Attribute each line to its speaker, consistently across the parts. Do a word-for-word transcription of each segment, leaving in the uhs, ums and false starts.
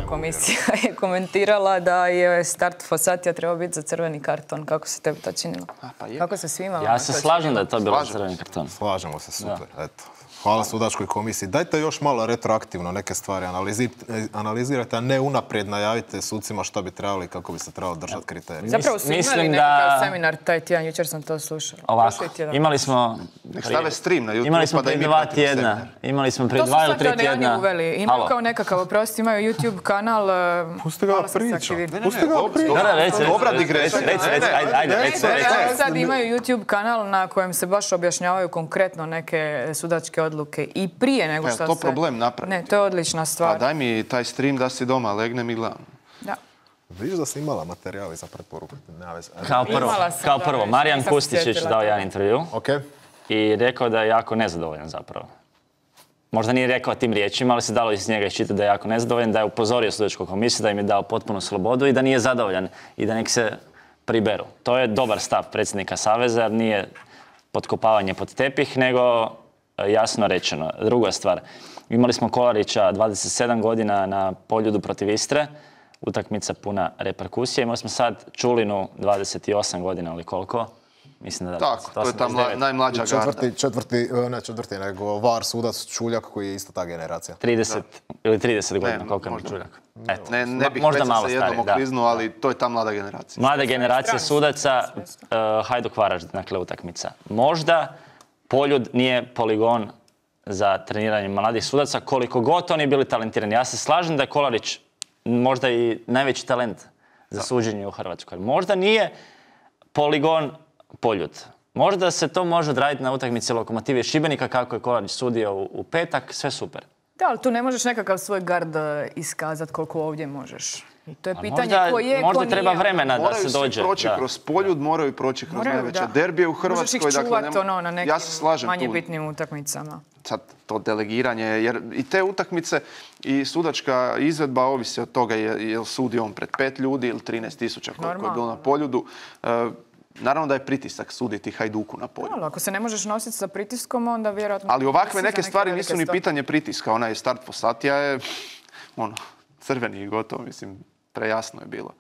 Speaker 1: komisija je komentirala da je start Fossatija trebao biti za crveni karton. Kako se tebi to činilo? Kako se svima?
Speaker 2: Ja se slažem da je to bilo za crveni karton.
Speaker 3: Slažemo se, super. Eto. Hvala sudačkoj komisiji. Dajte još malo retroaktivno neke stvari analizirajte, a ne unaprijed najavite sucima što bi trebali, kako bi se trebalo držati kriterije.
Speaker 1: Zapravo su imali nekakav seminar taj tjedan, jučer sam to slušala.
Speaker 2: Ovako, imali smo...
Speaker 4: Nek stave stream na YouTube.
Speaker 2: Imali smo prije dva tjedna. Imali smo prije dva ili tri tjedna.
Speaker 1: To su uveli. Imaju kao nekakav, oprosti, imaju YouTube kanal.
Speaker 3: Pusti ga priča. Pusti ga priča.
Speaker 4: Dobra digresija.
Speaker 2: Ajde, recimo.
Speaker 1: Sad imaju YouTube kanal na kojem se baš objašnjavaju konkretno neke sudačke odluke i prije nego što se...
Speaker 4: Je to problem napraviti?
Speaker 1: Ne, to je odlična stvar.
Speaker 4: Pa daj mi taj stream da si doma, legnem i gledam.
Speaker 1: Da.
Speaker 3: Vidiš da si imala materijali za preporuku?
Speaker 2: Kao prvo, kao prvo, Marijan Kustičić dao jedan intervju i rekao da je jako nezadovoljan zapravo. Možda nije rekao tim riječima, ali se dalo iz njega iščitati da je jako nezadovoljan, da je upozorio sudačku komisiju, da im je dao potpunu slobodu i da nije zadovoljan i da nek se priberu. To je dobar stav predsjednika Saveza, jer nije potkopavanje pod tepih, nego jasno rečeno. Druga stvar, imali smo Kolarića dvadeset sedam godina na Poljudu protiv Istre, utakmica puna reperkusije. Imali smo sad Čulinu dvadeset osam godina, ali koliko? Mislim da
Speaker 4: tako, to je ta najmlađa garda.
Speaker 3: Četvrti, četvrti, ne četvrti, nego var sudac Čuljak koji je isto ta generacija.
Speaker 2: trideset ili trideset godina, koliko je Čuljak?
Speaker 4: Eto, ne, ne bih već se jednom okliznuo, ali to je ta mlada generacija.
Speaker 2: Mlada generacija sudaca, uh, Hajduk Varaždin, dakle utakmica. Možda Poljud nije poligon za treniranje mladih sudaca, koliko god oni bili talentirani. Ja se slažem da je Kolarić možda i najveći talent za suđenje u Hrvatskoj. Možda nije poligon Poljud. Možda se to može odraditi na utakmici Lokomotive Šibenika, kako je Kolarić sudio u, u petak, sve super.
Speaker 1: Da, ali tu ne možeš nekakav svoj gard iskazati koliko ovdje možeš. I to je pitanje
Speaker 2: možda,
Speaker 1: ko je,
Speaker 2: možda
Speaker 1: ko
Speaker 2: treba
Speaker 1: nije.
Speaker 2: vremena da se dođe.
Speaker 4: Moraju svi proći kroz Poljud, moraju proći kroz
Speaker 1: moraju,
Speaker 4: najveće
Speaker 1: da.
Speaker 4: derbije u Hrvatskoj.
Speaker 1: Možeš ih čuvati
Speaker 4: dakle,
Speaker 1: ono, na nekim
Speaker 4: ja se slažem
Speaker 1: manje
Speaker 4: tu.
Speaker 1: bitnim utakmicama.
Speaker 4: Sad to delegiranje, jer i te utakmice i sudačka izvedba ovisi od toga je, je li sudi on pred pet ljudi ili trinaest tisuća koliko je bilo na Poljudu. E, naravno da je pritisak suditi Hajduku na Poljudu.
Speaker 1: Ali ako se ne možeš nositi sa pritiskom, onda vjerojatno...
Speaker 4: Ali ovakve neke stvari nisu ni pitanje pritiska. Onaj start Fossatija je ono, crveni i gotovo, mislim, prejasno je bilo.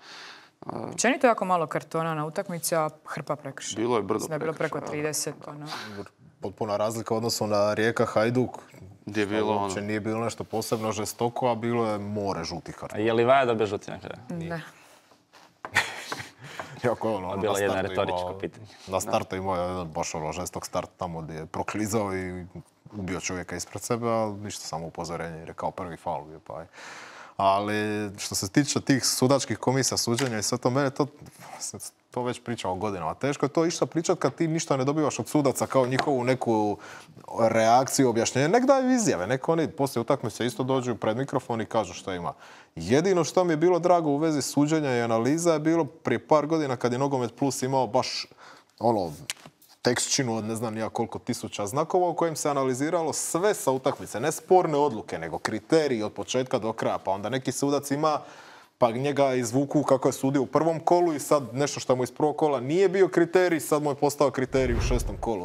Speaker 1: Općenito jako malo kartona na utakmici, a hrpa prekršaja.
Speaker 4: Bilo je brdo
Speaker 1: prekršaja. Bilo preko trideset. Ono.
Speaker 3: Potpuna razlika u odnosu na Rijeka Hajduk.
Speaker 4: Gdje je bilo ono?
Speaker 3: Uopće nije bilo nešto posebno žestoko, a bilo je more žutih kartona.
Speaker 2: Je li Vaja dobio žuti na kraju?
Speaker 1: Ne.
Speaker 3: Jako ono, ono,
Speaker 2: bilo je jedno retoričko pitanje.
Speaker 3: Na startu imao je jedan baš ono žestok start tamo gdje je proklizao i ubio čovjeka ispred sebe, ali ništa, samo upozorenje jer je kao prvi faul bio pa je. Ali što se tiče tih sudačkih komisija, suđenja i sve to, mene to, to već pričao godinama. Teško je to išta pričati kad ti ništa ne dobivaš od sudaca kao njihovu neku reakciju, objašnjenje. Nek daju izjave, nek oni poslije utakmice isto dođu pred mikrofon i kažu što ima. Jedino što mi je bilo drago u vezi suđenja i analiza je bilo prije par godina kad je Nogomet Plus imao baš ono, tekstčinu od ne znam nija koliko tisuća znakova u kojem se analiziralo sve sa utakmice. Ne sporne odluke, nego kriteriji od početka do kraja. Pa onda neki sudac ima, pa njega izvuku kako je sudio u prvom kolu i sad nešto što mu iz prvog kola nije bio kriterij, sad mu je postao kriterij u šestom kolu.